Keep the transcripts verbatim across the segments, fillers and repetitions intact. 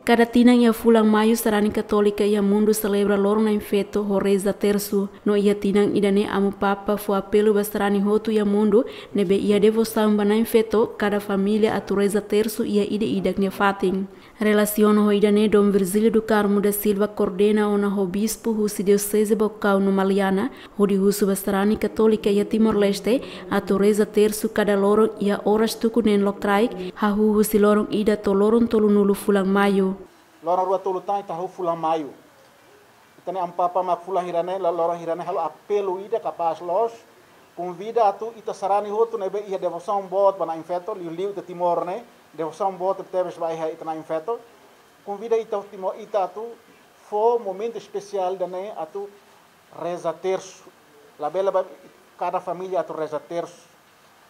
Kada tinan iha fulan Maiu, sarani Katólika iha mundu selebra loron Na'in-Feto ho reza tersu. No iha tinan ida-ne'e Amu Papa fó apelu ba sarani hotu iha mundu ne'ebé iha devosaun ba Na'in-Feto, kada família atu reza tersu iha ida-idak nia fatin. Relasiona ho ida-ne'e, Dom Virgílio do Carmo da Silva, koordena ona ho bispu husi Dioseze Baucau no Maliana, hodi husu ba sarani Katólika iha Timor-Leste atu reza tersu kada loron iha oras tuku neen lokraik, hahú husi loron ida to'o loron tolunulu fulan Maiu. Loron rua tolu tan ita hahú fulan Maiu. Ita-nia Amu Papa mak fulan hira-ne'e, la loron hira-ne'e halo apelu ida kapás loos, konvida atu ita sarani hotu ne'ebé iha devosaun boot ba Na'in-Feto, liuliu ita Timor ne'e, devosaun boot tebes ba iha ita Na'in-Feto. Konvida ita Timor, ita atu fó momentu espesiál ida-ne'e atu reza tersu. Labele ba kada família atu reza tersu.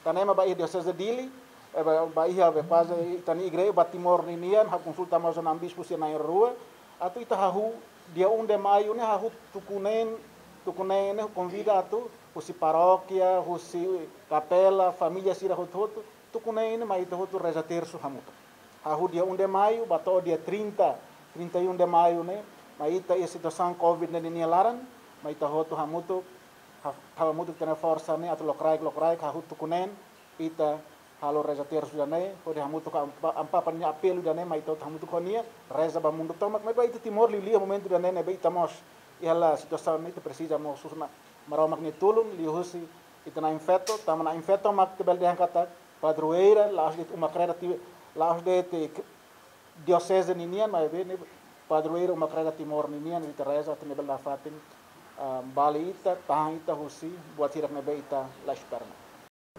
Tanba ema ba iha Dioseze Dili, eh, ba, ba iha be kuaze ita-nia igreja ba Timor ninian, ha'u konsulta mós ho na'in bispu sira na'in-rua, atu ita hahú dia um de Maiu ne'e hahú tuku neen, tuku neen ne'e konvida atu husi parókia, husi kapela, família sira hotu-hotu, tuku neen ne'e mai ita hotu reza tersu hamutuk. Hahú dia um de Maiu, ba to'o dia trinta, trinta e um de Maiu ne'e, mai ita iha situasaun covid ne'e ninia laran, mai ita hotu hamutuk, ha-, hamutuk ita-nia forsa ne'e atu lokraik, lokraik, hahú tuku neen, ita halo reza tersu ida-ne'e, hodi hamutuk ho Amu Pa-, Amu Papa nia apelu ida-ne'e, mai ita hotu hamutuk ho nia, reza ba mundu tomak, maibé ita Timor liuliu momentu ida-ne'e ne'ebé ita mós iha hela situasaun ne'e, ita presiza mós husu Maromak nia tulun, liuhusi ita Na'in-Feto, tanba Na'in-Feto mak ita bele dehan katak padroeira, la'ós de'it uma kreda Ti-, la'ós de'it Dioseze ninian, maibé ne'e padroeira uma kreda Timor ninian, ita reza atu nia bele nafatin, ah, bali ita, tahan ita husi buat hirak ne'ebé ita la espera.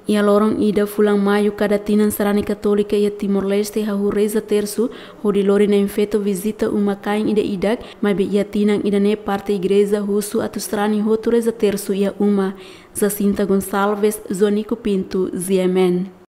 Iha loron ida fulan Maiu kada tinan, sarani Katólika iha Timor-Leste hahú reza tersu, hodi lori Na'in-Feto vizita uma-kain ida-idak, maibé iha tinan ida-ne'e parte igreja husu atu sarani hotu reza tersu iha uma. Jacinta Gonçalves, Joanico Pinto, G M N.